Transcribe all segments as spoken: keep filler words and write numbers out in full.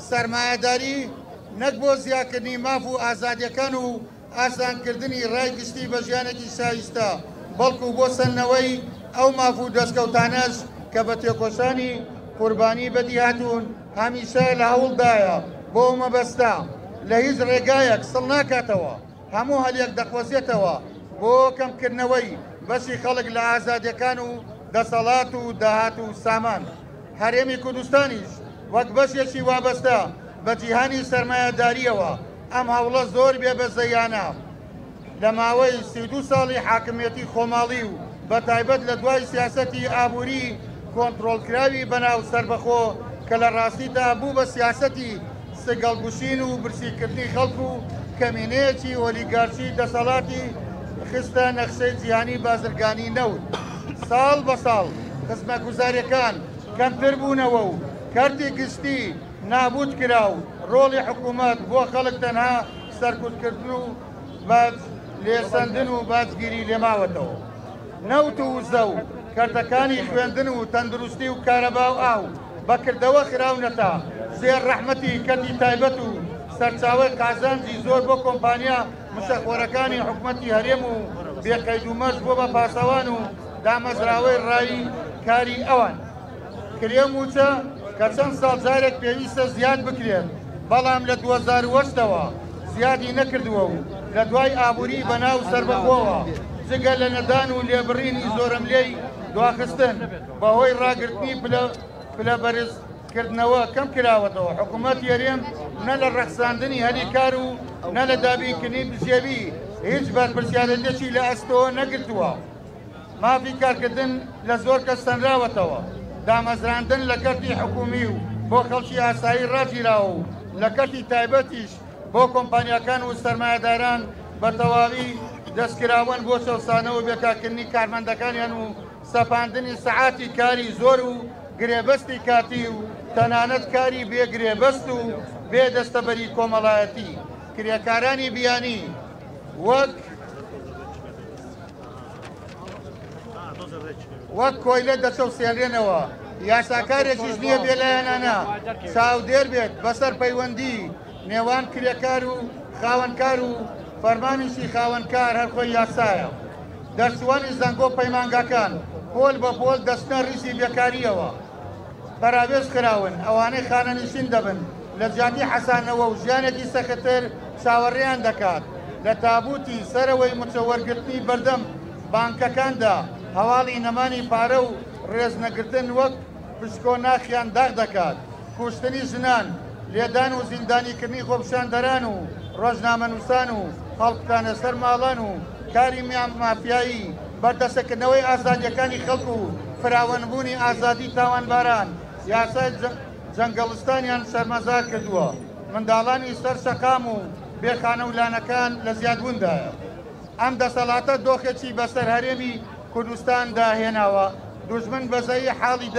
سەرمایەداری نەک بۆ زیاکردنی ماف و ئازادیەکان و ئاسانکردنی ڕای گشتی بە ژیانێکی شایستە، بەڵکو بۆ سەندنەوەی ئەو ماف و دەستکەوتانەش کە بە تێکۆشانی قوربانی بەدیهاتوون هەمیشە لە هەوڵدایە بۆ مەبەستە لە هیچ ڕێگایەک سڵ ناکاتەوە، هەموو هەلێک دەقۆزێتەوە بۆ کەمکردنەوەی بەشی خەڵک لە ئازادیەکان و دەسەڵات و داهات و سامان. هەرێمی کوردستانیش وەک بەشێکی وابەستە بە جیهانی سەرمایەداریەوە ئەم هەوڵە زۆر بێبەزەیانە لە ماوەی سی و دوو ساڵی حاکمیەتی خۆماڵی و بە تایبەت لە دوای سیاسەتی ئابووری کۆنترۆڵکراوی بەناو سەربەخۆ کە لە ڕاستیدا بوو بە سیاسەتی سگەڵگوشین و برسیکردنی خەڵک و کەمینەیەکی ئۆلیگارشی دەسەڵاتی خستە نەخشەی جیهانی بازرگانی نەوت. ساڵ بە ساڵ خزمەتگوزاریەکان کەمتر بوونەوە و کەرتی گشتی نابوت کرا و ڕۆڵی حکوومەت بۆ خەڵک تەنها سەرکوتکردن و باج لێسەندن و باجگیری لێماوەتەوە. نەوت و وزە و کەرتەکانی خوێندن و تەندروستی و کارەبا و ئاو بەکردەوە خراونەتە زێر ڕەحمەتی کەرتی تایبەت و سەرچاوەی قازانجی زۆر بۆ کۆمپانیا مشەخۆرەکانی حکوومەتی هەرێم و بێقەید و مەرج بۆ بە پاسەوان و دامەزراوەی ڕایی کاری ئەوان. کرێ موچە کە چەند ساڵ جارێک پێویستە زیاد بکرێت، بەڵام لە دوو هەزار و هەشتەوە زیادی نەکردووە و لە دوای ئابووری بەناو سەربەخۆوە جگە لە نەدان و لێبڕینی زۆرەملێی دواخستن بەهۆی ڕاگرتنی پلە بەرزکردنەوە کەم کراوەتەوە. حکوومەت هەرێم نە لە ڕەخساندنی هەلی کار و نە لە دابینکردنی بژێوی هیچ بەرپرسیارێتێکی لە ئەستۆ نەگرتووە. مافی کارکردن لە زۆر کەس سەنراوەتەوە، دامەزراندن لە کەرتی حکوومی و بۆ خەڵکی ئاسایی ڕاگیراوە و لە کەرتی تایبەتیش بۆ کۆمپانیاکان و سەرمایەداران بە تەواوی دەستکراون بۆ چەوسانەوە و بێکارکردنی کارمەندەکانیان و سەپاندنی سەعاتی کاری زۆر و گرێبەستی کاتی و تەنانەت کاری بێگرێبەست و بێ دەستەبەری کۆمەڵایەتی. کرێکارانی بیانی وەک وەک کۆیلە دەچەوسێنرێنەوە. یاساکارێکیش نییە بێلایەنانە چاودێر بێت بەسەر پەیوەندی نێوان کرێکار و خاوەنکار و فەرمانیشی خاوەنکار هەر خۆی یاسایە. دەرچووانی زانکۆ پەیمانگاکان پۆل بە پۆل دەچنە ڕیزی بێکاریەوە، پەراوێز خراون. ئەوانەی خانەنشین دەبن لە جیاتی حەسانەوە و ژیانێکی سەختتر چاوەڕێیان دەکات. لە تابوتی سەرەوەی موچە وەرگرتنی بەردەم بانکەکاندا هەواڵی نەمانی پارە و ڕێزنەگرتن وەک پشکۆ ناخیان داغ دەکات. کوشتنی ژنان، لێدان و زیندانیکردنی خۆپیشاندەران و ڕۆژنامەنووسان و هەڵکوتانە سەر ماڵان و کاری مافیایی، بەردەسەکردنەوەی ئازادیەکانی خەڵک و فراوانبوونی ئازادی تاوانباران یاسای جەنگەڵستانیان شەرمەزار کردووە. منداڵانی سەر شەقام و بێخانە و لانەکان لە زیادبووندایە. ئەم دەسەڵاتە دۆخێکی بەسەر هەرێمی کوردستاندا هێناوە، دوژمن بەزەیی حاڵی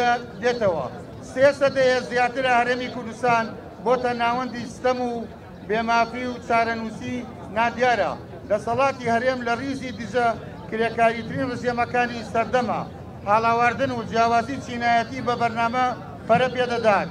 دێتەوە. سێ سەدەیە زیاترە هەرێمی کوردستان بۆتە ناوەندی ستەم و بێمافی و چارەنووسی نادیارە. دەسەڵاتی هەرێم لە ڕیزی دژە کرێکاریترین ڕژێمەکانی سەردەمە. هاڵاواردن و جیاوازی چینایەتی بە بەرنامە پەرە پێدەدات.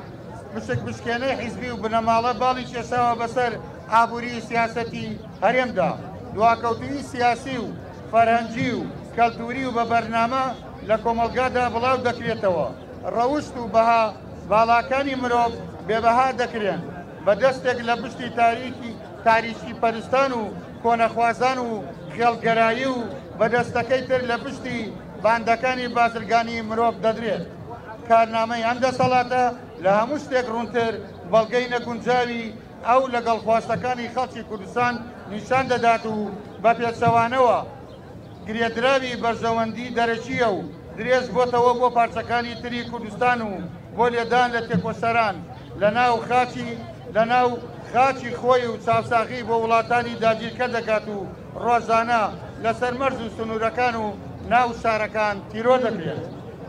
مشک بشکێنەی حیزبی و بنەماڵە باڵی کێشاوە بەسەر ئابووری سیاسەتی هەرێمدا. دواکەوتووی سیاسی و فەرهەنگی و کەلتوری و بە بەرنامە لە کۆمەڵگادا بڵاو دەکرێتەوە. ڕەوشت و بەها باڵاکانی مرۆڤ بێبەها دەکرێن بە دەستێک لە پشتی تاریکی تاریکی پەرستان و کۆنەخوازان و خێڵگەرایی و بە دەستەکەی تر لە پشتی باندەکانی بازرگانی مرۆڤ دەدرێت. کارنامەی ئەم دەسەڵاتە لە هەموو شتێک ڕوونتر بەڵگەی نەگونجاوی ئەو لەگەڵ خواستەکانی خەڵکی کوردستان نیشان دەدات و بە پێچەوانەوە گرێدراوی بەرژەوەندی دەرەکییە و درێژ بۆتەوە بۆ پارچەکانی تری کوردستان و بۆ لێدان لە تێکۆشەران لەناو خاچی لەناو خاچی خۆی و چاوساغی بۆ وڵاتانی داگیرکە دەکات و ڕۆژانە لەسەر مەرز و سنوورەکان و ناو شارەکان تیرۆر دەکرێت.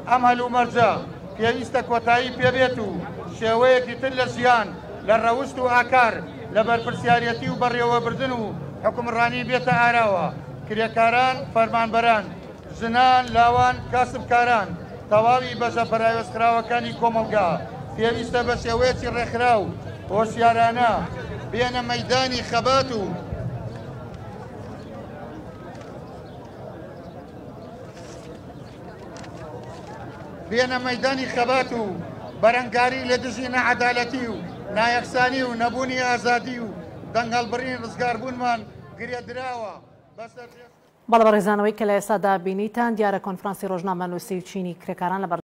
ئەم هەلومەرجە پێویستە کۆتایی پێبێت و شێوەیەکی تر لە ژیان لە ڕەوشت و ئاکار لە بەرپرسیارەتی و بەڕێوەبردن و حکومڕانی بێتە ئاراوە. کرێکاران، فەرمانبەران، ژنان، لاوان، کاسبکاران، تەواوی بەشە پەراوێزخراوەکانی کۆمەڵگا پێویستە بە شێوەیەکی ڕێکخراو هۆشیارانە بێنە مەیدانی خەبات و بێنە مەیدانی خەبات و بەرەنگاری لە دژی نەعەدالەتی و نایەکسانی و نەبوونی ئازادی و دەنگهەڵبڕین ڕزگاربوونمان گرێدراوە. بەڵێ بەڕێزانەوەی کە لە ئێستادا بینیتان دیارە کۆنفرانسی ڕۆژنامەنووسی چینی کرێکاران لە